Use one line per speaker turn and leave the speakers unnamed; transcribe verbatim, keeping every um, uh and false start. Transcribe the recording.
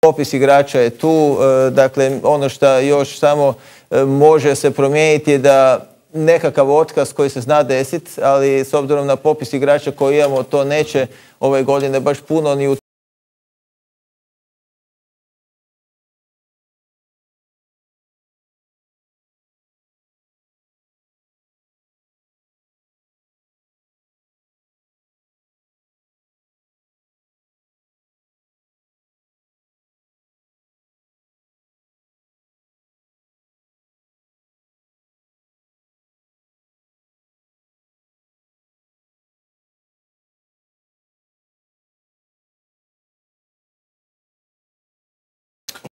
popis igrača je tu, dakle ono što još samo može se promijeniti je da nekakav otkaz koji se zna desiti, ali s obzirom na popis igrača koji imamo to neće ove godine baš puno ni